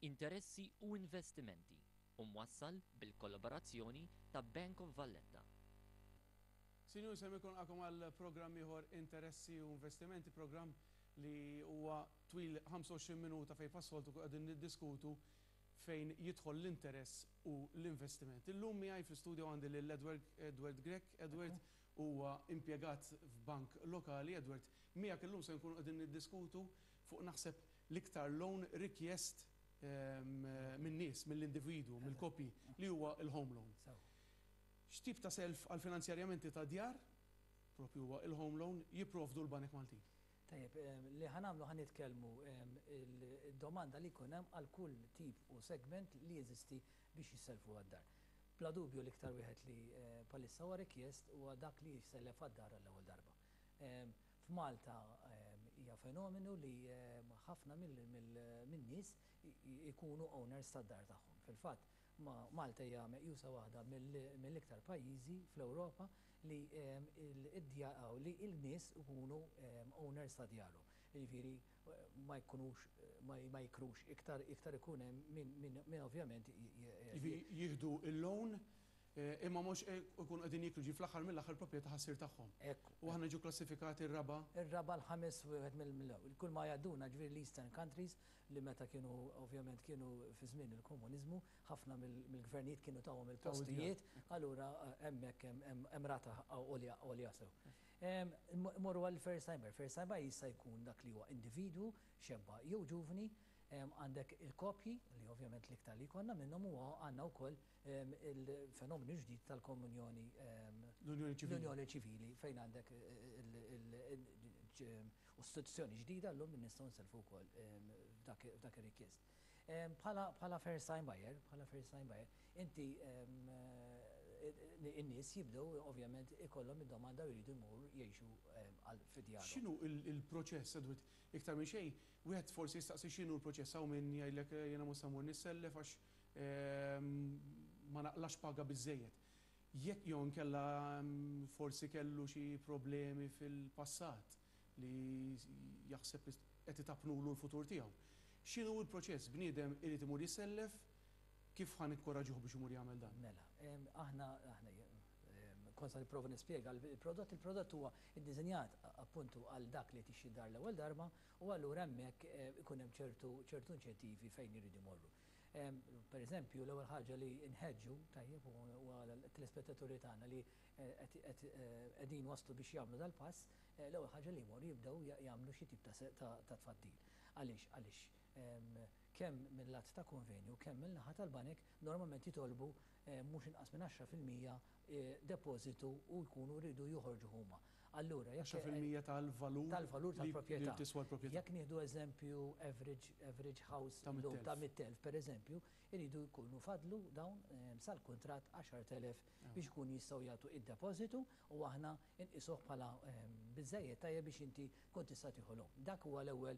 Interessi u Investimenti u mwassal bil-kollaborazzjoni ta' Bank of Valletta. Sinjuri, se ikun għakom għal programm ieħor, Interessi u Investimenti, programm li huwa twil 25 minuta fejn bħas-soltu qegħdin niddiskutu fejn jidħol l-interess u l-investiment. Illum miegħi fl-istudio għandi lil Edward, Edward Grech. Edward huwa impjegat f'bank lokali. Edward, miegħek illum se nkunu qegħdin niddiskutu fuq, naħseb, l-iktar loan rikjest min-nies, mill-individwu, mill-koppji, li huwa il-home loan. X'tip ta' self għal finanzjarjamenti ta' djar, propju huwa il-home loan, jipprovdu l-banek Maltin? Tajjeb, li ħa nagħmlu, ħa nitkellmu il-domanda li jkun hemm għal kull tip u segment li jeżisti biex jisselfu għad-dar. Bla dubju l-iktar wieħed li bħalissa huwa rikjest huwa dak li jissellef għad-dar għall-ewwel darba. F'Malta hija fenomenu li ħafna min-nies ikunu owners tad-dar tagħhom. Fil-fatt, Malta hija meqjusa waħda mill-iktar pajjiżi fl-Ewropa li li il-nies ikunu owners ta' djarhom. Jiġifieri ma jkunux ma jikrux iktar, iktar ikun hemm min ovvjament Jieħdu il-loan imma mhux ikunu qegħdin jikru, ġi fl-aħħar mill-aħħar proprjetà ħa ssir tagħhom. U aħna ġu klassifikati r-raba'. Ir-raba', l-ħames wieħed mill-ewwel. Kull ma jgħadduna ġifieri l-Eastern countries li meta kienu ovvjament kienu fi żmien il-komuniżmu, ħafna mill-gvernijiet kienu tawhom il-postijiet, allura hemmhekk hemm rata għolja sew. Morru għal first timer. First timer jista' jkun dak li huwa individwu, xebba jew ġuvni, għandek il-kopji li ovvjament l-iktar li jkollna minnhom huwa għandna wkoll il-fenomenu ġdid tal-komunjoni, l-unjoni ċivili. L-unjoni ċivili, fejn għandek istituzzjoni ġdida llum li nistgħu nselfu wkoll f'dak ir-rikjest. Bħala first time buyer, bħala first time buyer, inti in-nies jibdew ovvjament ikollhom id-domanda u jridu jmur jgħixu fi djarhom. X'inhu il-proċess, Edward? Iktar minn xejn, wieħed forsi jistaqsi x'inhu l-proċess. Hawn min jgħidlek, "Jiena mhux se mmur nissellef għax ma naqlax paga biżejjed." Jekk jew inkella forsi kellu xi problemi fil-passat li jaħseb li qed itapnulu l-futur tiegħu. X'inhu l-proċess? Bniedem irid imur jissellef, kif ħa nikkoraġuh biex imur jagħmel dan? Mela, aħna kont se nipprova nispjega l-prodott. Il-prodott huwa ddisinjat appuntu għal dak li tixtri dar l-ewwel darba u allura hemmhekk ikun hemm ċertu inċentivi fejn iridu jmorru. Per eżempju, l-ewwel ħaġa li nħeġġu tajjeb u għal telespettaturi tagħna li qegħdin waslu biex jagħmlu dal-pass, l-ewwel ħaġa li jmorru jibdew jagħmlu xi tip ta' tfaddil. Għaliex? Għaliex kemm mill-lat ta' konvenju, kemm mill-naħa tal-banek normalment jitolbu mhux inqas minn 10% depożitu u jkunu rridu joħorġu huma. Allura, jekk 10% tal-valur tal-valur li tal-proprjetà. Tiswa l-proprjetà. Jekk nieħdu eżempju average house ta' illum ta' 100,000. 100,000, per eżempju, iridu jkunu fadlu dawn sal-kuntratt 10,000 biex ikun jistgħu jagħtu id-depożitu u aħna nqisuh bħala biżejjed tajjeb biex inti tkun tista' tieħu loan. Dak huwa l-ewwel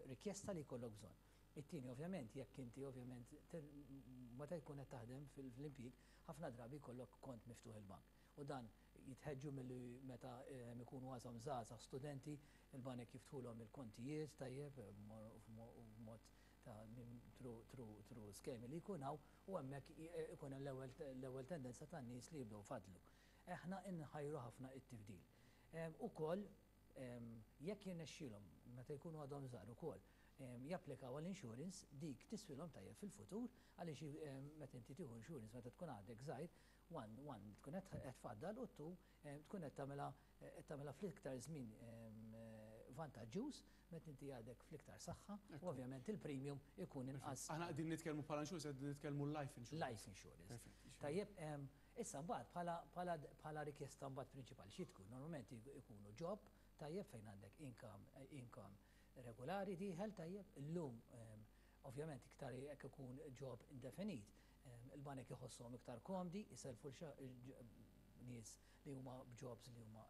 rikjesta li jkollok bżonn. It-tieni, ovvjament, jekk inti ovvjament meta jkun qed taħdem fil-impjieg, ħafna drabi jkollok kont miftuħ il-bank. U dan jitħeġġu milli meta ikunu għadhom żgħażagħ, studenti, il-banek jiftħulhom il-kontijiet tajjeb b'mod ta' through skemi li jkun hawn u hemmhekk ikun hemm l-ewwel tendenza tan-nies li jibdew fadlu. Aħna inħajru ħafna it-tifdil. Ukoll jekk jirnexxielhom meta jkunu għadhom żgħar ukoll japplikaw għall-insurance, dik tiswilhom tajjeb fil-futur, għaliex meta inti tieħu insurance meta tkun għadek żgħir, one tkun qed tfaddal u two tkun qed tagħmilha fl-iktar żmien vantaġġuż meta inti għadek fl-iktar saħħa u ovvjament il-premium ikun inqas. Aħna qegħdin nitkellmu bħala insurance, qegħdin nitkellmu life insurance. Life insurance. Perfett. Tajjeb, issa mbagħad bħala rikjesta mbagħad prinċipali xi tkun? Normalment ikunu job tajjeb fejn għandek income regolari dieħel tajjeb. Illum ovvjament iktar jekk ikun job indefinit, il-banek iħossuhom iktar komdi jiselfu nies li huma b'jobs li huma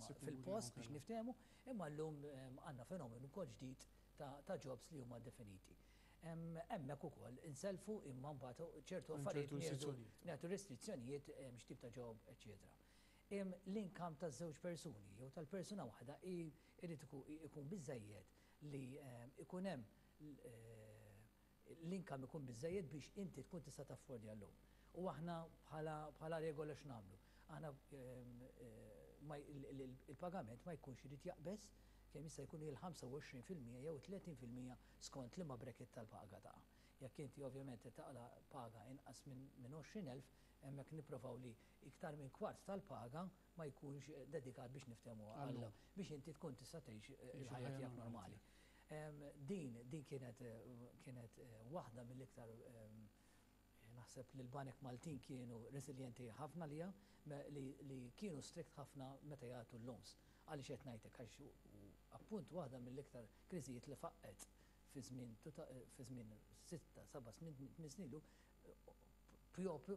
Sikuri, fil-post biex inkella. niftehmu, imma llum għandna fenomenu wkoll ġdid ta' jobs li huma definiti. Hemmhekk ukoll inselfu, imma mbagħad ċertu Hemm affarijiet ċertu restrizzjonijiet. Nagħtu restrizzjonijiet, x'tip ta' job, eċetera. L-income ta' żewġ persuni jew tal-persuna waħda irid ikun biżejjed li ikun hemm l-income ikun biżżejjed biex inti tkun tista' taffordja l-loan. U aħna bħala regola x'nagħmlu? Aħna il-pagament ma jkunx irid jaqbeż kemm jista' jkun il-25% jew 30% skont liema bracket tal-paga taqa'. Jekk inti ovvjament qed taqla' paga inqas minn 20,000, hemmhekk nipprovaw li iktar minn kwart tal-paga ma jkunx dedikat, biex niftehmu, għal biex inti tkun tista' tgħix il-ħajja tiegħek normali. Din kienet waħda mill-iktar, naħseb li l-banek Maltin kienu resilienti ħafna li kienu strict ħafna meta jagħtu l-loans. Għaliex qed ngħidlek? Għax appunt waħda mill-iktar kriżijiet li faqqet fi żmien 6, 7, 8 snin ilu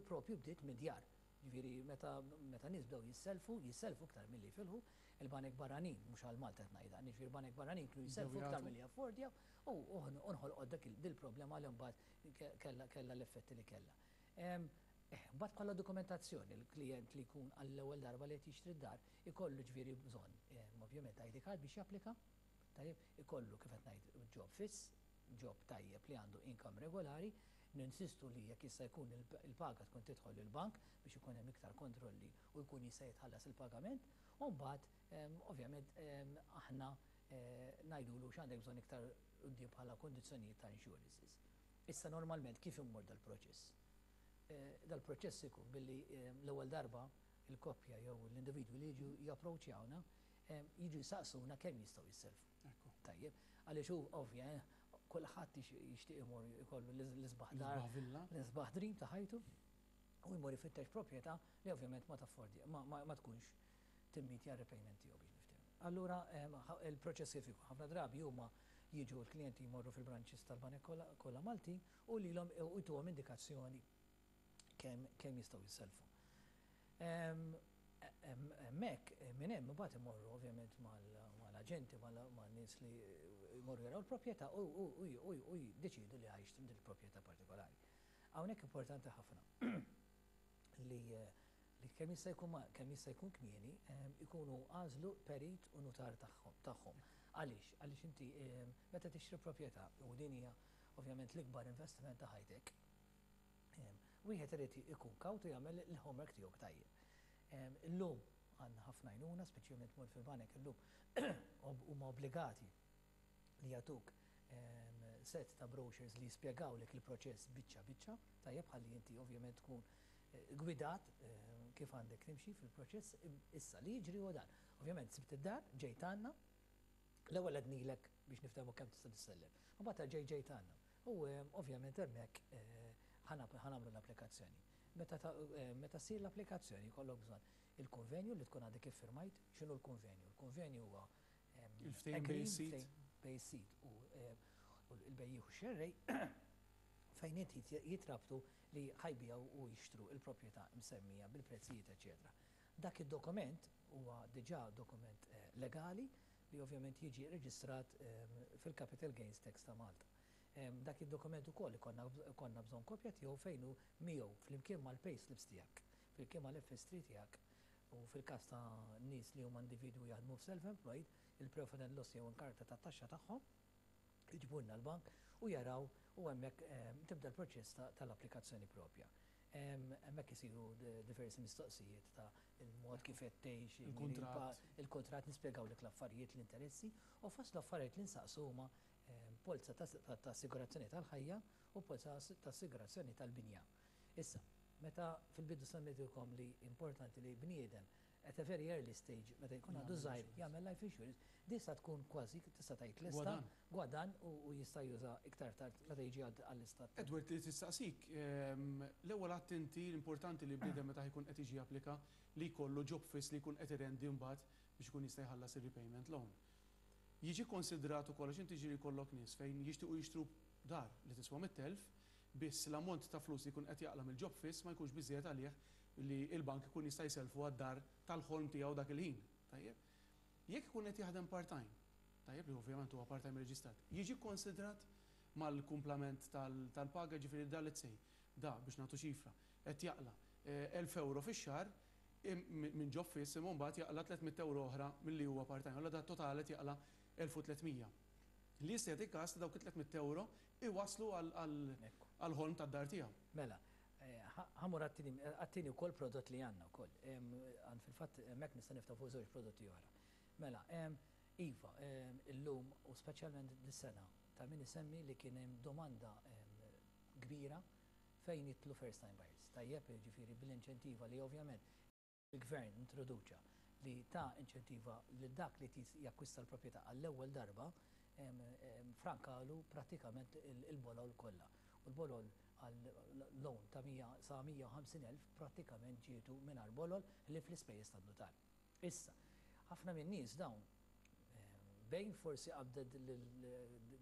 propju bdiet mid-djar. Ġifieri meta nies bdew jisselfu, jisselfu iktar milli jifilħu, il-banek barranin, mhux għal Malta qed ngħidha, ġifieri banek barranin kienu jisselfu iktar milli jaffordjaw u nħolqot dak dil-problema li mbagħad kellha l-effetti li kellha. Mbagħad bħala dokumentazzjoni, il-klient li jkun għall-ewwel darba li qed jixtri d-dar ikollu ġifieri bżonn ovvjament ID card biex japplika, tajjeb, ikollu, kif qed ngħid, job fiss, job tajjeb li għandu income regolari. Ninsistu li jekk jista' jkun il-paga tkun tidħol il-bank biex ikun hemm iktar kontrolli u jkun jista' jitħallas il-pagament, u mbagħad ovvjament aħna ngħidulu x'għandek bżonn iktar quddiem bħala kondizzjonijiet ta' insurances. Issa normalment kif immur dal-proċess? Dal-proċess ikun billi l-ewwel darba il-koppja jew l-individwi li jiġu japproċċjawna jiġu jsaqsuna kemm jistgħu jisselfu. Tajjeb, għaliex hu ovvja, kulħadd jixtieq imur ikollu l-isbaħ dar, l-isbaħ dream ta' ħajtu, u jmur ifittex proprjetà li ovvjament ma taffordi, ma tkunx timmitja repayment tiegħu, biex niftehmu. Allura il-proċess kif ikun? Ħafna drabi huma jiġu, l-klijenti jmorru fil-branches tal-banek kollha Malti u lilhom u jtuhom indikazzjoni kemm jistgħu jisselfu. Hemmhekk minn hemm imbagħad imorru ovvjament mal-aġenti, man-nies li jmorru jaraw il-proprjetà u jiddeċidu li ħa jixtru din il-proprjetà partikolari. Hawnhekk importanti ħafna li kemm jista' jkun kmieni ikunu għażlu perit u nutar tagħhom. Għaliex? Għaliex inti meta tixtri proprjetà, u din hija ovvjament l-ikbar investiment ta' ħajtek, wieħed irid ikun kawtu, jagħmel il-homework tiegħu tajjeb. Illum għandna ħafna għajnuna, speċjalment mort fil-banek illum huma obbligati li jagħtuk set ta' brochures li jispjegawlek il-proċess biċċa biċċa, tajjeb, ħalli inti ovvjament tkun gwidat kif għandek timxi fil-proċess. Issa li jiġri huwa dan. Ovvjament sibt id-dar, ġejt għandna, l-ewwel għednilek biex niftehmu kemm tista' tissellef. U mbagħad ġejt għandna. U ovvjament hemmhekk ħa nagħmlu l-applikazzjoni. Meta ssir l-applikazzjoni jkollok bżonn il-konvenju li tkun għadek iffirmajt. X'inhu l-konvenju? Il-konvenju huwa Il-ftehim bejn is-sid. Bejn is-sid u il-bejjiegħ u xerrej fejn inti jitrabtu li ħa jbigħu u jixtru il-proprjetà msemmija bil-prezzijiet, eċetera. Dak id-dokument huwa diġà dokument legali li ovvjament jiġi reġistrat fil-Capital Gains Tax ta' Malta. Dak id-dokument ukoll ikollna bżonn kopja tiegħu fejn hu miegħu flimkien mal-payslips tiegħek, flimkien mal-FS3 tiegħek u fil-każ ta' nies li huma individwi jaħdmu f'self-employed, il-profit and loss jew inkarta ta' taxxa tagħhom, iġibulna l-bank u jaraw u hemmhekk tibda l-proċess tal-applikazzjoni propja. Hemmhekk isiru diversi mistoqsijiet ta' il-mod kif qed tgħix, Il-kuntratt. Il-kuntratt, nispjegawlek l-affarijiet, l-interessi, u fost l-affarijiet li nsaqsu huma polza ta' assigurazzjoni tal-ħajja u polza ta' assigurazzjoni tal-binja. Issa, meta fil-bidu semmejtilkom li importanti li bniedem at a very early stage, meta jkun għadu żgħir, jagħmel life insurance, disa tkun kważi tista' tgħid lesta, Gwadan. Gwadan u jista' juża iktar tard meta jiġi għall-istat. Edward, li tistaqsik, l-ewwel għedt inti l-importanti li bniedem meta jkun qed jiġi applika li jkollu job fiss li jkun qed irendi mbagħad biex ikun jista' jħallas ir-repayment loan. Jiġi konsidrat ukoll, għax inti ġieli jkollok nies fejn jixtiequ jixtru dar li tiswa 100,000, biss l-ammont ta' flus li jkun qed jaqla mill-job fiss ma jkunx biżejjed għalih li l-bank ikun jista' jselfu għad-dar tal-ħolm tiegħu dak il-ħin. Tajjeb. Jekk ikun qed jaħdem part-time, tajjeb, li ovvjament huwa part-time reġistrat, jiġi konsidrat mal-kumplament tal-paga, ġifieri da, let's say, da biex nagħtu ċifra, qed jaqla 1000 euro fix-xahar minn job fiss, imma mbagħad jaqla 300 euro oħra milli huwa part-time. Allura da total qed jaqla 1300. Li jista' jagħti każ li dawk it-300 ewro iwasslu għall-ħolm tad-dar tiegħu. Mela, ħa mmur għat-tieni wkoll prodott li għandna wkoll. Għand fil-fatt hemmhekk nista' niftaħ fuq żewġ prodotti oħra. Mela, iva, illum u speċjalment dis-sena ta' min isemmi li kien hemm domanda kbira fejn jidħlu first time buyers. Tajjeb, jiġifieri bl-inċentiva li ovvjament il-Gvern introduċa li ta inċentiva lil dak li trid jakkwista l-proprjetà għall-ewwel darba, frankalu prattikament il-bolol kollha. U l-bolol għal loan ta' 100 sa 150,000 prattikament ġietu mingħajr bolol ħlief l-ispejjeż tan-nutar. Issa, ħafna min-nies dawn bejn forsi qabdet lil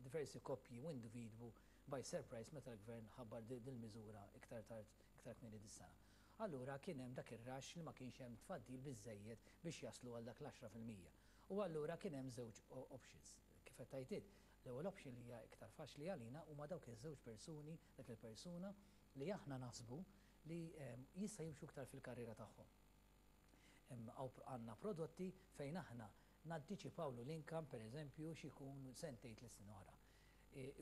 diversi koppji u individwu by surprise meta l-Gvern ħabbar dil-miżura iktar tard, iktar kmieni dis-sena. Allura kien hemm dak ir-rush li ma kienx hemm tfaddil biżżejjed biex jaslu għal dak l-10%. U allura kien hemm żewġ options. Kif qed tgħid int, l-ewwel option li hija iktar faċli għalina huma dawk iż-żewġ persuni, dak il-persuna li aħna naħsbu li jista' jimxu iktar fil-karriera tagħhom. Għandna prodotti fejn aħna nantiċipawlu l-income, per eżempju, x'ikun sentejn 3 snin oħra.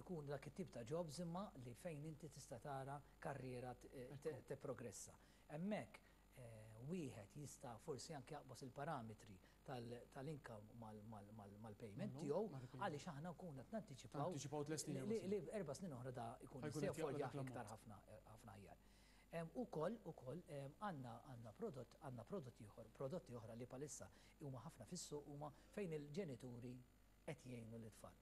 Ikun dak it-tip ta' jobs imma li fejn inti tista' tara karriera tipprogressa. Hemmhekk wieħed jista' forsi anke jaqbos il-parametri tal-income mal-payment tiegħu għaliex aħna nkunu qed nantiċipaw li 4 snin oħra da jkun jista' jaffordja iktar ħafna ħafna aħjar. Ukoll għandna prodott ieħor, prodotti oħra li bħalissa huma ħafna fis-suq huma fejn il-ġenituri qed jgħinu l-tfal.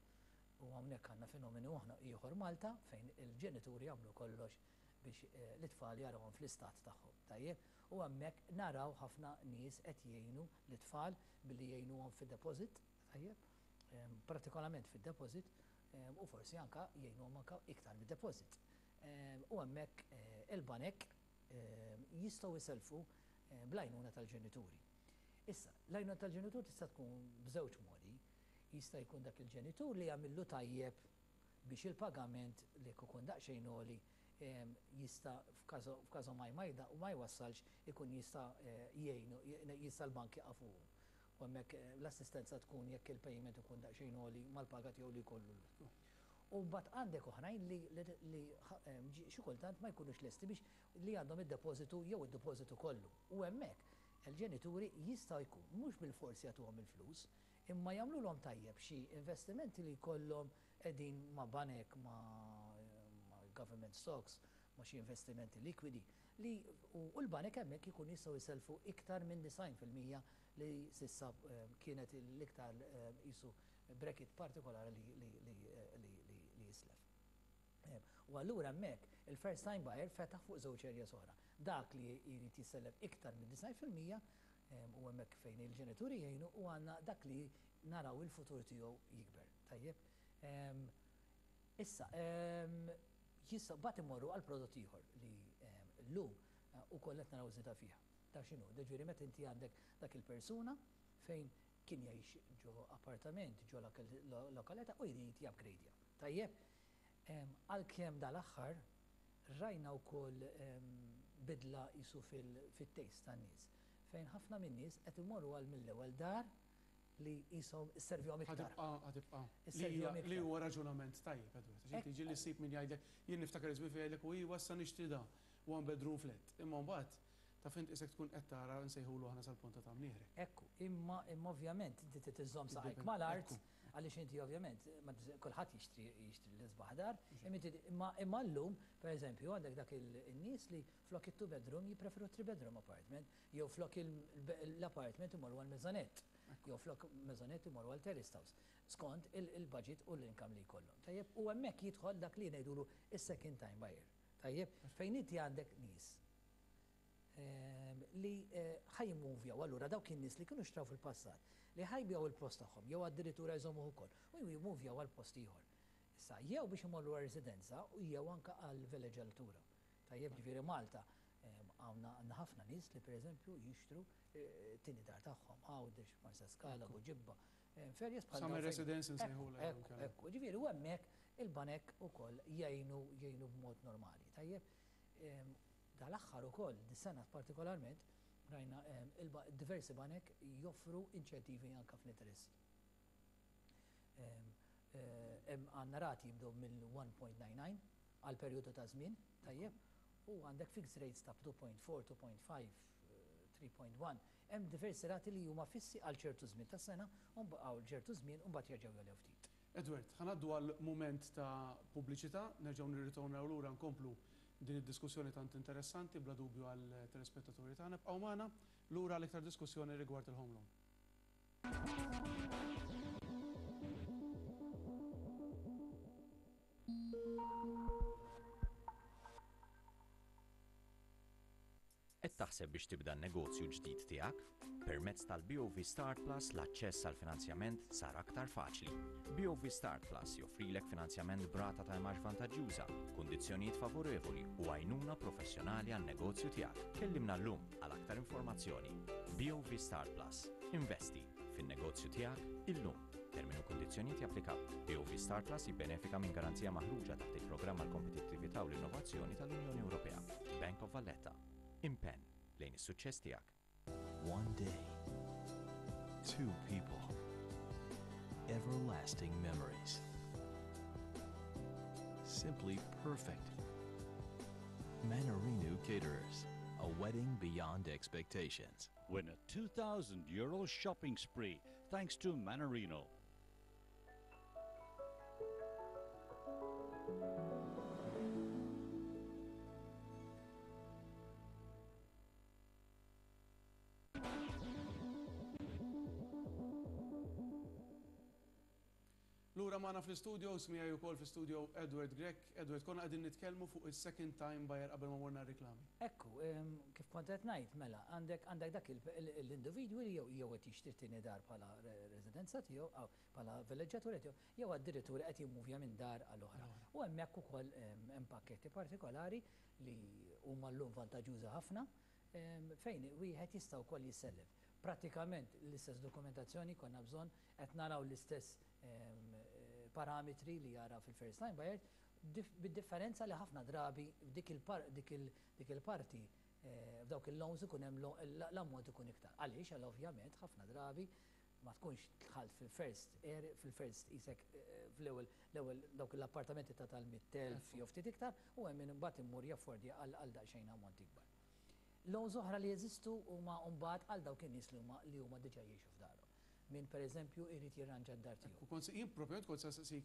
U hawnhekk għandna fenomenu ieħor Malta fejn il-ġenituri jagħmlu kollox biex l-itfal jarawhom fl-istat tagħhom. Tajjeb, u hemmhekk naraw ħafna nies qed jgħinu l-itfal billi jgħinuhom fid-deposit, tajjeb, partikolarment fid-deposit, u forsi anka jgħinuhom anka iktar mid-deposit. U hemmhekk il-banek jistgħu jiselfu bl-għajnuna tal-ġenituri. Issa, l-għajnuna tal-ġenitur tista' tkun b'żewġ modi. Jista' jkun dak il-ġenitur li jagħmillu tajjeb biex il-pagament li jkun daqsxejn għoli jista' f'każu ma jmajda u ma jwassalx ikun jista' jgħinu, jista' l-bank jaqafu. U hemmhekk l-assistenza tkun jekk il-payment ikun daqsxejn għoli mal-paga tiegħu li jkollu. U mbagħad għandek oħrajn li xi kultant ma jkunux lesti biex li għandhom id-depożitu jew id-depożitu kollu. U hemmhekk il-ġenituri jistgħu jkun mhux bil-forsi jagħtuhom il-flus, imma jagħmluhom tajjeb xi investimenti li jkollhom qegħdin ma' banek, ma' government stocks, ma' xi investimenti likwidi li u l-banek hemmhekk ikun jistgħu jiselfu iktar minn 90% li s'issa kienet l-iktar jisu bracket partikolari li jislef. U allura hemmhekk il-first time buyer fetaħ fuq żewġ areas oħra. Dak li jrid jisellef iktar minn 90% u hemmhekk fejn il-ġenituri jgħinu u għandna dak li naraw il-futur tiegħu jikber. Tajjeb. Issa, jista' bat imorru għal prodott ieħor li llum ukoll qed naraw żieda fiha. Ta' x'inhu? Ġifieri meta inti għandek dak il-persuna fejn kien jgħix ġo appartament, ġo lokaleta u jrid jupgradeja. Tajjeb, għalkemm dal-aħħar rajna wkoll bidla jisu fil-taste tan-nies fejn ħafna min-nies qed imorru għal mill-ewwel dar li jisom isservihom iktar. Ħa tibqa'. Li huwa raġunament tajjeb, Edward. Għax inti ġieli ssib min jgħidlek, jien niftakar iżmi fejn jgħidlek u iwa issa nixtri da one bedroom flat. Imma mbagħad taf int isek tkun qed tara nsejħulu aħna sal-ponta ta' mnieħrek. Ekku, imma ovvjament inti trid iżżomm saqajk mal-art għaliex inti ovvjament kulħadd jixtri l-isbaħ dar, imma llum, pereżempju, għandek dak il-nies li flok it-two bedroom jippreferu three bedroom apartment, jew flok l-apartment imorru għal maisonette, jew flok maisonette imorru għal terrace house, skont il-budget u l-income li jkollhom. Tajjeb, u hemmhekk jidħol dak li ngħidulu is-second time buyer. Tajjeb, fejn inti għandek nies li ħa jimmuvjaw allura dawk in-nies li kienu xtraw fil-passat li ħa jbigħu il-post tagħhom jew addirittura jżommuh ukoll u jimmuvjaw għal post ieħor. Issa jew biex imorru għal residenza u jew anke għal villeġġatura. Tajjeb, ġifieri Malta għandna ħafna nies li pereżempju jixtru tieni dar tagħhom Għawdex, Marsaskala, Buġibba, ferjes bħal Summer residence nsejħulha. Ekku, ġifieri u hemmhekk il-banek ukoll jgħinu b'mod normali. Tajjeb, dal-aħħar ukoll, dis-sena partikolarment, rajna diversi banek joffru inċentivi anka fl-interessi. Hemm għandna rati jibdew mill-1.99 għal perjodu ta' żmien, tajjeb, u għandek fixed rates ta' 2.4, 2.5, 3.1. Hemm diversi rati li huma fissi għal ċertu żmien tas-sena u għal ċertu żmien u mbagħad jerġgħu jogħlew ftit. Edward, ħa ngħaddu għal mument ta' pubbliċità, nerġgħu nirritornaw lura nkomplu din id-diskussjoni tant interessanti bla dubju għat-telespettaturi tagħna. Ibqgħu magħna lura għal iktar diskussjoni rigward il-home loan. Qed taħseb biex tibda n-negozju ġdid tiegħek? Permezz tal-BOV Start Plus l-aċċess għal finanzjament sar aktar faċli. BOV Start Plus joffrilek finanzjament b'rata ta' imgħax vantaġġjuża, kundizzjonijiet favorevoli u għajnuna professjonali għan-negozju tiegħek. Kellimna llum għal aktar informazzjoni. BOV Start Plus. Investi fin-negozju tiegħek illum. Termini u kundizzjonijiet japplikaw. BOV Start Plus jibbenefika minn garanzija maħruġa taħt il-programm għal kompetittività u l-innovazzjoni tal-Unjoni Ewropea. Bank of Valletta. Impenn lejn is-suċċess tiegħek. One day, two people, everlasting memories. Simply perfect. Manarino Caterers, a wedding beyond expectations. Win a 2,000 euro shopping spree thanks to Manarino. Lura magħna fl-studio, miegħi wkoll fl-studio Edward Grech. Edward, konna qegħdin nitkellmu fuq il-second time buyer qabel ma morna reklami. Ekku, kif kont qed ngħid, mela, għandek għandek dak l-individwi li jew qed jixtri tieni dar bħala residenza tiegħu aw bħala villeġġatura tiegħu, jew addirittura qed jimmuvja minn dar għal oħra. U hemmhekk ukoll hemm pakketti partikolari li huma llum vantaġġjuża ħafna fejn wieħed jista' wkoll jissellef. Pratikament l-istess dokumentazzjoni konna bżonn, qed naraw l-istess parametri li jara fil-first time buyer, bid-differenza li ħafna drabi dik il-parti f'dawk il-loans ikun hemm l-ammont ikun iktar. Għaliex? Għal ovvjament ħafna drabi ma tkunx dħalt fil-first area, fil-first isek fl-ewwel l-ewwel dawk l-appartamenti ta' tal-100,000 jew ftit iktar u hemm min imbagħad immur jaffordja għal daqsxejn ammont ikbar. Loans oħra li jeżistu huma mbagħad għal dawk in-nies li huma diġà jgħixu f'darhom. Min pereżempju jrid jirranġa d-dar tiegħu. U kont jien propjament kont saqsik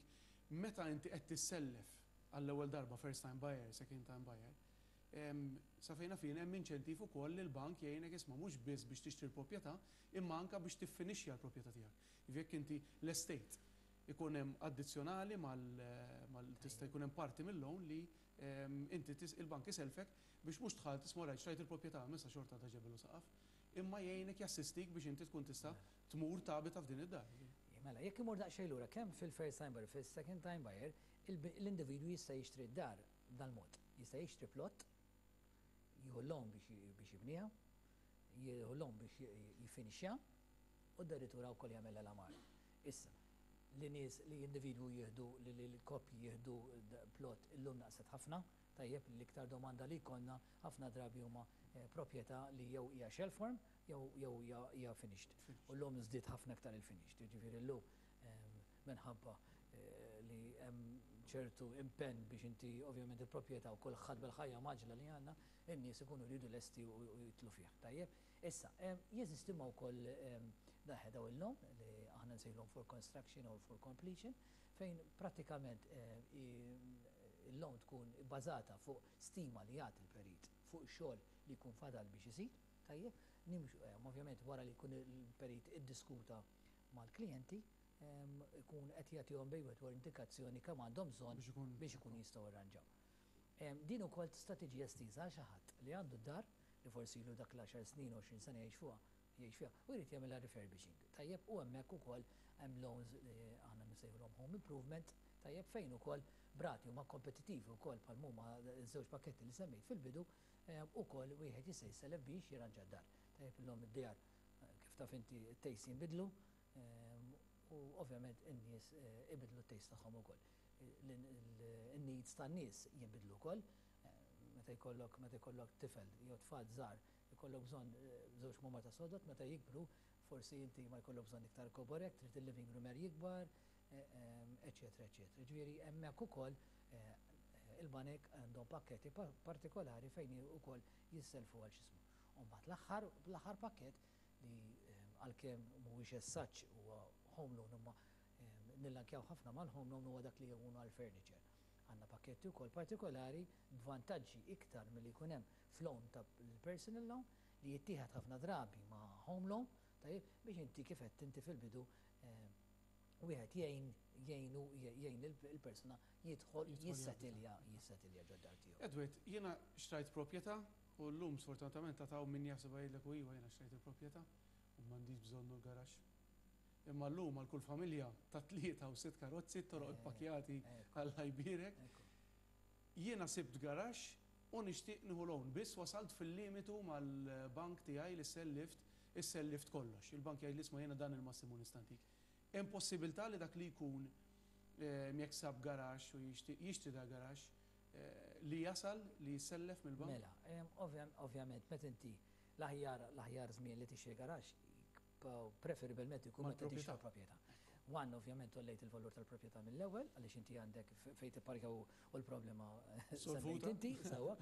meta inti qed tissellef għall-ewwel darba, first time buyer, second time buyer, sa fejn naf jien hemm inċentiv ukoll li l-bank jgħinek, isma', mhux biss biex tixtri l-proprjetà, imma anka biex tiffinixxja l-proprjetà tiegħek. Jekk inti l-estate ikun hemm addizzjonali mal tista' jkun hemm parti mill-loan li inti il-bank iselfek biex mhux dħalt isma' rajt xtrajt il-proprjetà missa xorta ta' ġebel u saqaf, imma jgħinek, jassistik biex inti tkun tista' tmur tabita f'din id-dar. Mela, jekk imur daqsxejn lura, kemm fil-first time buyer, fil-second time buyer, l-individwu jista' jixtri d-dar dal-mod. Jista' jixtri plot, jieħu l-loan biex jibniha, jieħu loan biex jifinixja, u addirittura wkoll jagħmel l-għamara. Issa, li nies li individwu jieħdu li l-koppji jieħdu plot illum naqset ħafna, tajjeb, l-iktar domanda li jkollna ħafna drabi huma proprjetà li jew hija shell form jew hija finished. U llum żdied ħafna iktar il-finished. Ġifieri llum minħabba li hemm ċertu impenn biex inti ovvjament il-proprjetà u kulħadd bil-ħajja mgħaġġla li għandna, in-nies ikunu jridu lesti u jidħlu fih. Tajjeb, issa, jeżisti ma wkoll daħe daw il-loan li aħna nsejħulhom for construction or for completion, fejn pratikament il-loan tkun bbażata fuq stima li jagħti il-perit fuq xogħol li jkun fadal biex isir, tajjeb, nimxu, ovvjament wara li jkun il-perit iddiskuta mal-klijenti, ikun qed jagħtihom bejn wieħed indikazzjoni kemm għandhom bżonn biex ikun jistgħu jirranġaw. Din ukoll tista' tiġi estiża għal xi ħadd li għandu d-dar li forsi ilu dak l-10 snin, 20 sena jgħix fuqha, jgħix fiha u jrid jagħmilha refurbishing. Tajjeb, u hemmhekk ukoll hemm loans li aħna nsejħulhom home improvement, tajjeb, fejn ukoll b'rati huma kompetittivi wkoll bħal huma żewġ pakketti li semmejt fil-bidu, ukoll wieħed jista' jissellef biex jirranġa d-dar. Tajjeb, illum id-djar, kif taf inti, it-taste jinbidlu u ovvjament in-nies ibidlu t-taste tagħhom ukoll. Il-needs tan-nies jinbidlu wkoll. Meta jkollok tifel jew tfal żgħar, ikollok bżonn żewġ kmamar ta' sodod, meta jikbru forsi inti ma jkollok bżonn iktar kobor hekk, trid il-living room er jikbar. Eċċetera eċċetera. Ġifieri hemmhekk ukoll il-banek għandhom pakketti partikolari fejn ukoll jisselfu għal x'ismu. U mbagħad l-aħħar l-aħħar pakkett li għalkemm mhuwiex as such huwa home loan imma nillinkjaw ħafna mal-home loan huwa dak li jkunu għall-furniture. Għandna pakketti wkoll partikolari b'vantaġġi iktar milli jkun hemm f'loan ta' personal loan li jittieħed ħafna drabi ma' home loan, tajjeb, biex inti kif qed inti fil-bidu wieħed jgħin jgħinu jgħin il-persuna jidħol jissetilja jissetilja ġod-dar tiegħu. Edward, jiena xtrajt proprjetà u llum sfortunatament ta' min jaħseb jgħidlek u iva jiena xtrajt il-proprjetà u m'għandix bżonnu l-garaxx. Imma llum għal kull familja ta' tlieta u sitt karozzi, toroq ippakkjati Alla jbierek. Jiena sibt garaxx u nixtieq nieħu loan, biss wasalt fil-limitu mal-bank tiegħi li sellift, issellift kollox. Il-bank jgħidli isma' jiena dan il-massimu nista' ntik. Hemm possibilità li dak li jkun jekk sab garaxx u jixtieq jixtri dak garaxx li jasal li jissellef mill-bank? Mela, ovvjament meta inti l-aħjar l-aħjar żmien li tixtri garaxx preferibilment ikun meta tixtri proprjetà. One, ovvjament għollejt il-valur tal-proprjetà mill-ewwel, għaliex inti għandek fejn tipparkja u l-problema semmejt inti, sewwa.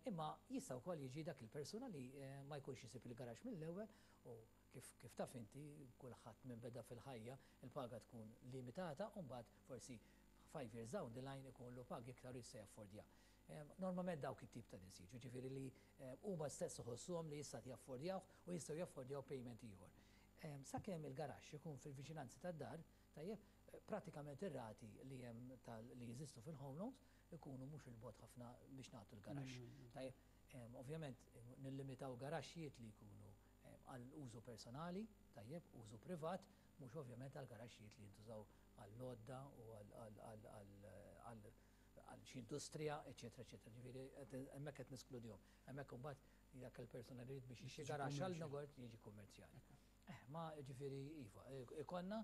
Imma jista' wkoll jiġi dak il-persuna li ma jkunx isib il-garaxx mill-ewwel u kif taf inti, kulħadd minn beda fil-ħajja, il-paga tkun limitata u mbagħad forsi 5 years down the line ikollu pagi iktar u jista' jaffordja. Normalment dawk it-tip ta' nies jiġu, ġifieri li huma stess iħossuhom li jista' jaffordjaw u jistgħu jaffordjaw payment ieħor. Sakemm il-garaxx ikun fil-viċinanzi tad-dar, tajjeb, pratikament ir-rati li hemm li jeżistu fil-home loans ikunu mhux il-bogħod ħafna biex nagħtu l-garaxx. Tajjeb, ovvjament nillimitaw garaxxijiet li jkunu għal użu personali, tajjeb, użu privat, mhux ovvjament għal garaxxijiet li jintużaw għall-lodda u għal xi industrija, eċetera, eċetera. Ġifieri hemmhekk qed neskludihom. Hemmhekk imbagħad jekk il-persuna li biex jixtri garaxx għal negozju jiġi kummerċjali. Ma ġifieri iva, ikonna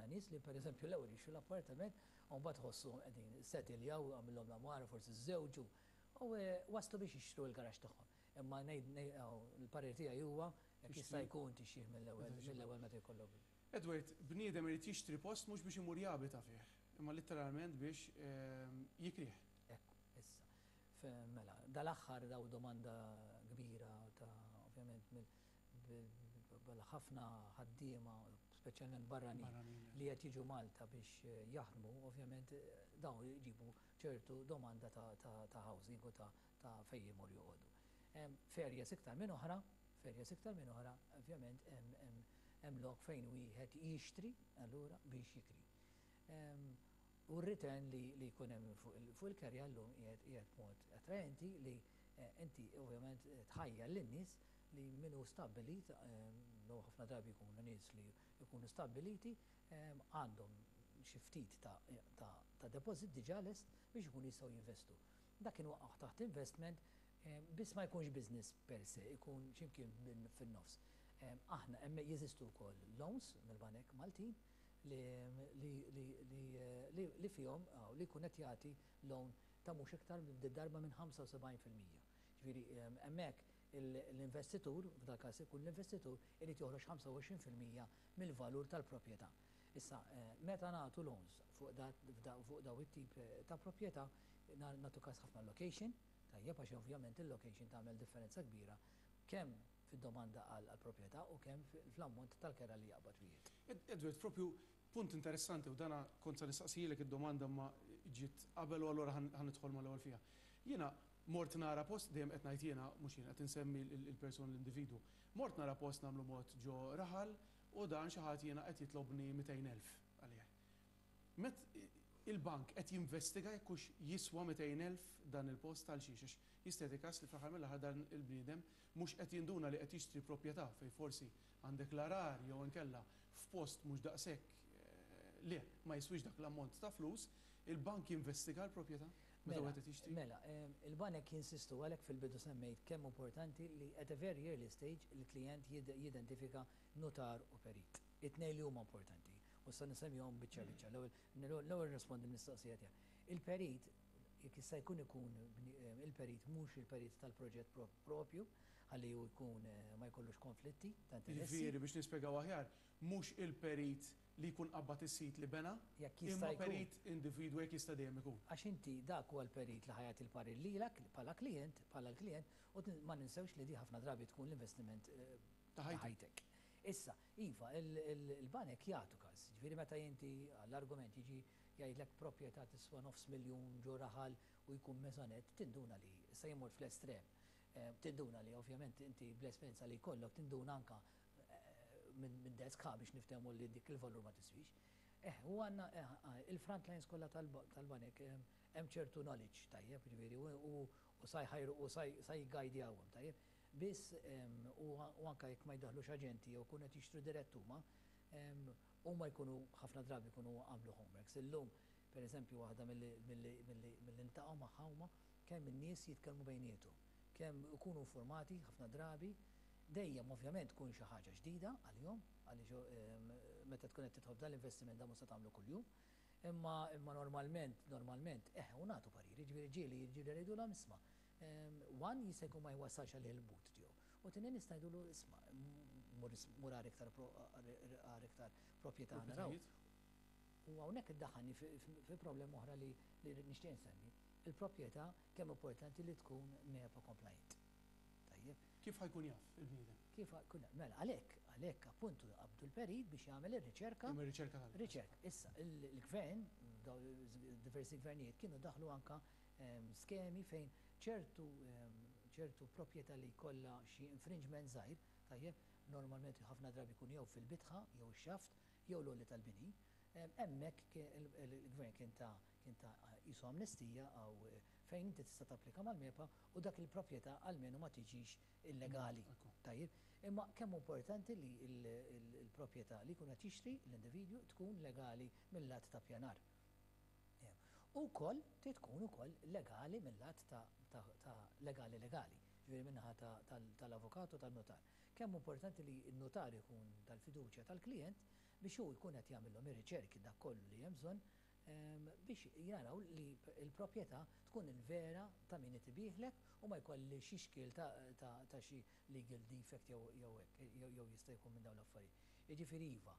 nies li pereżempju l-ewwel jixtru l-appartament u mbagħad ħossu qegħdin settiljaw għamilhom l-għamara forsi żewġu u waslu biex jixtru l-garaxx tagħhom. Imma il-parir tiegħi huwa jekk jista' jkun tixtrih mill-ewwel meta jkollok. Edward, bniedem irid jixtri post mhux biex imur jabita fih, imma literalment biex jikrih. Ekku, issa. Mela, dal-aħħar daw domanda kbira ta' ovvjament ħafna ħaddiema, speċjalment barranin, li qed jiġu Malta biex jaħdmu, ovvjament dawn jġibu ċertu domanda ta' housing u ta' fejn jmur joqogħdu. F'areas iktar minn oħra, f'areas iktar minn oħra, ovvjament hemm lok fejn wieħed jixtri allura biex jikri. U r-return li jkun hemm fuq il-kerja llum qiegħed mod attraenti li inti ovvjament tħajjar lin-nies li minnu stabbilit, ħafna drabi jkunu nies li jkunu stabbiliti, għandhom xi ftit ta' deposit diġà lest biex ikunu jistgħu jinvestu. Dak inwaqqaħ taħt investment, biss ma jkunx business per se, ikun ximkien fin-nofs. Aħna hemm jeżistu wkoll loans mill-banek Maltin li fihom li jkun qed jagħti loan ta' mhux iktar darba minn 75%. Ġifieri hemmhekk l-investitur, f'dal każ ikun l-investitur, irid joħroġ 25% mill-valur tal-proprjetà. Issa, meta nagħtu loans fuq daw it-tip ta' proprjetà, nagħtu każ ħafna location, tajjeb, għax ovvjament il-location tagħmel differenza kbira kemm fid-domanda għal proprjetà u kemm fl-ammont tal-kera li jaqbad wieħed. Edward, propju punt interessanti u dana kont sa nistaqsijilek id-domanda ma ġiet qabel u allura ħa nidħol mal-ewwel fiha. Jiena mort nara post, dejjem qed ngħid jiena, mhux jiena qed insemmi il-persuna l-individu. Mort nara post nagħmlu mod ġo raħal u dan xi ħadd jiena qed jitlobni 200,000 għalih. Meta il-bank qed jinvestiga jekk hux jiswa 200,000 dan il-post għal xiex, għax jista' każ li fl-aħħar mill-aħħar dan il-bniedem mhux qed jinduna li qed jixtri proprjetà fejn forsi għandek l-għargħar jew inkella f'post mhux daqshekk li ma jiswix dak l-ammont ta' flus, il-bank jinvestiga l-proprjetà meta Mela, wieħed qed jixtri? Mela, il-banek jinsistu għalhekk fil-bidu semmejt kemm importanti li at a very early stage il-klient jidentifika notar u perit. It-tnejn li huma importanti. U sa nsemmihom biċċa biċċa. L-ewwel nirrispondi l-mistoqsija tiegħek. Il-perit Jekk jista' jkun ikun il-perit mhux il-perit tal-proġett propju, ħalli hu jkun ma jkollux konflitti ta' interessi. Jiġifieri biex nispjegaw aħjar, mhux il-perit li jkun qabbad is-sit li bena, Jekk jista' imma jkun. perit individwu jekk jista' dejjem ikun. Għax inti dak huwa l-perit li ħa jagħti l-parir lilek bħala klijent, bħala l-klijent, u ma ninsewx li di ħafna drabi tkun l-investiment Ta' ta' ħajtek. ħajtek. Issa, iva, il-banek jagħtu każ. Jiġifieri meta inti għall-argument jiġi jgħidlek proprjetà tiswa nofs miljun ġo raħal u jkun maisonette, tinduna li, issa jien mort fl-estrem, tinduna li ovvjament inti bl-esperjenza li jkollok tinduna anka minn desk ħa biex niftehmu li dik il-valur ma tiswix. Eh, u għandna il-front lines kollha tal-banek hemm ċertu knowledge tajjeb, jiġifieri u sa jħajru u sa jiggajdjawhom tajjeb. Biss u anka jekk ma jdaħħlux aġenti jew jkunu qed jixtru dirett huma, huma jkunu ħafna drabi jkunu għamlu homeworks. Illum, per eżempju, waħda milli niltaqgħu magħha huma kemm in-nies jitkellmu bejniethom, kemm ikunu informati ħafna drabi, dejjem ovvjament tkun xi ħaġa ġdida għalihom, għaliex meta tkun qed tidħol f'dal-investiment dan mhux se tagħmlu kuljum. Imma normalment, u nagħtu pariri, jiġifieri ġieli ġieli ngħidulhom isma', one jista' jkun ma jwassalx għalih il-but tiegħu. U tieni nista' ngħidulu isma' mur għar iktar iktar proprjetà naraw. U hawnhekk iddaħħalni fi problema oħra li nixtieq insemmi. Il-proprjetà kemm importanti li tkun MEPA compliant. Tajjeb. Kif ħa jkun jaf il-bniedem? Kif jkun mela għalhekk appuntu qabdu l-perit biex jagħmel ir-riċerka. Jagħmel riċerka tal. Riċerka. Issa il-gvern, diversi gvernijiet kienu daħlu anka skemi fejn ċertu proprjetà li jkollha xi infringement żgħir, tajjeb, normalment ħafna drabi jkun jew fil-bitħa, jew ix-xaft, jew l-għoli tal-bini. Hemmhekk il-gvern kien ta' qisu amnestija għaw fejn inti tista' tapplika mal-MEPA u dak il-proprjetà almenu ma tiġix illegali. Tajjeb, imma kemm importanti li il-proprjetà li jkun qed jixtri l-individwu tkun legali mill-lat ta' pjanar. U koll tkun ukoll legali mill-lat ta' legali legali, ġifieri min-naħa tal-avukatu tal-notar. Kemm importanti li n-notar ikun tal-fiduċja tal-klient biex hu jkun qed jagħmilhom ir-riċerki dak kollu li hemm bżonn biex jaraw li l-proprjetà tkun il-vera ta' min ibigħlek u ma jkolli xi xkiel ta' xi legal defect jew hekk jew jista' jkun minn dawn l-affarijiet. Jiġifieri iva,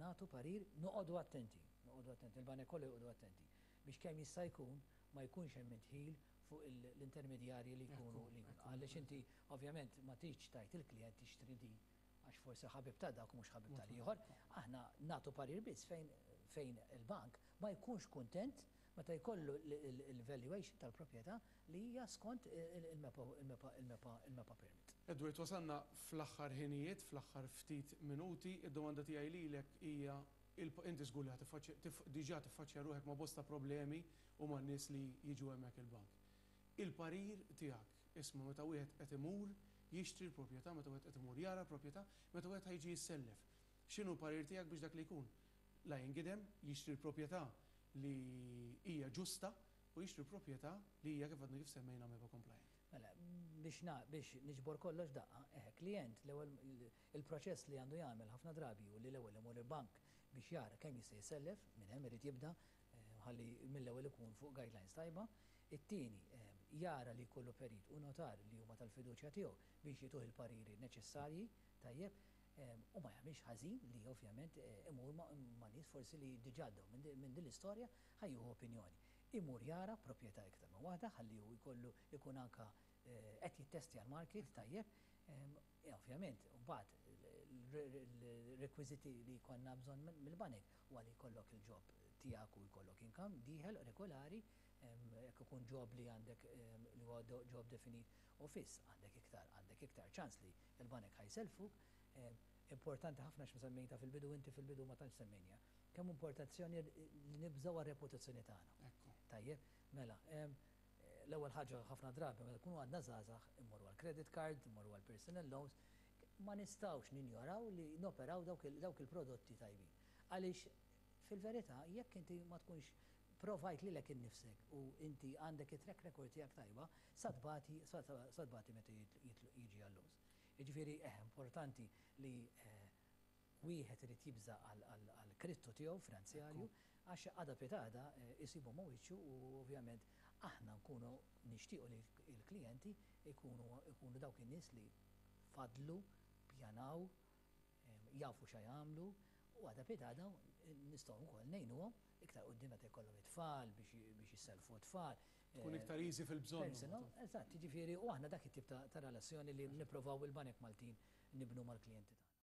nagħtu parir noqogħdu attenti, noqogħdu attenti, il-banek kollu joqogħdu attenti biex kemm jista' jkun ma jkunx hemm indħil fuq l-intermedjarji li jkunu li jkunu. Għaliex inti ovvjament ma tridx tgħid il-klient tixtri di għax forsi ħabib ta' dak mhux ħabib tal-ieħor. Aħna nagħtu parir biss fejn il-bank ma jkunx kuntent meta jkollu il-valuation tal-proprjetà li hija skont il-MEPA permit. Edward, wasalna fl-aħħar ħinijiet, fl-aħħar ftit minuti, id-domanda tiegħi lilek hija inti żgur li diġà tiffaċċja ruħek ma' bosta problemi u ma' nies li jiġu hemmhekk il-bank. Il-parir tiegħek, isma' meta wieħed qed imur jixtri l-proprjetà, meta wieħed qed imur jara l-proprjetà, meta wieħed ħa jiġi jissellef. X'inhu l-parir tiegħek biex dak li jkun? La jingidem, jixtri l-proprjetà li hija ġusta u jixtri l-proprjetà li hija kif għadna kif semmejna MEPA compliant. Mela, biex niġbor kollox daqqa, klient l-ewwel il-proċess li għandu jagħmel ħafna drabi u li l-ewwel imur il-bank biex jara kemm jista' jisellef, minn hemm irid jibda ħalli mill-ewwel ikun fuq guidelines tajba. It-tieni jara li jkollu perit u notar li huma tal-fiduċja tiegħu biex jituh il-pariri neċessarji, tajjeb, u ma jagħmilx ħażin li ovvjament imur ma' nies forsi li diġà għaddew minn din l-istorja ħa jieħu opinjoni. Imur jara proprjetà iktar minn waħda ħalli hu jkollu ikun anka qed jittestja l-market tajjeb. Ovvjament, mbagħad il-rekwiżiti li jkollna bżonn mill-banek huwa li jkollok il-job tiegħek u jkollok income dieħel regolari, jekk ikun job li għandek li huwa job definit u fiss, għandek iktar ċans li l-banek ħa jsellfuk. Importanti ħafna x'semmejta fil-bidu, inti fil-bidu ma tantx semmejnija. Kemm importazzjoni li nibżgħu għar-reputazzjoni tagħna. Tajjeb, mela, l-ewwel ħaġa ħafna drabi meta nkunu għadna żgħażagħ immorru għal credit card, immorru għal personal loans, ma nistgħux ninjoraw li noperaw dawk il-prodotti tajbin. Għaliex fil-verità jekk inti ma tkunx provajt lilek innifsek u inti għandek it-track record tiegħek tajba, sa tbati meta jiġi għall-loans. Jiġifieri importanti li wieħed irid jibża għal kredtu tiegħu finanzjarju. Għax għada pitgħada jsibu ma' wiċċu u ovvjament aħna nkunu nixtiequ li l-klijenti jkunu dawk in-nies li fadlu, pjanaw, jafu x'ha jagħmlu u għada pitgħada nistgħu wkoll ngħinuhom iktar quddiem meta jkollhom it-tfal biex jissellfu t-tfal. Tkun iktar easy fil-bżonn. Eżatt, jiġifieri u aħna dak it-tip ta' relazzjoni li nipprovaw il-banek Maltin nibnu mal-klijenti tagħna.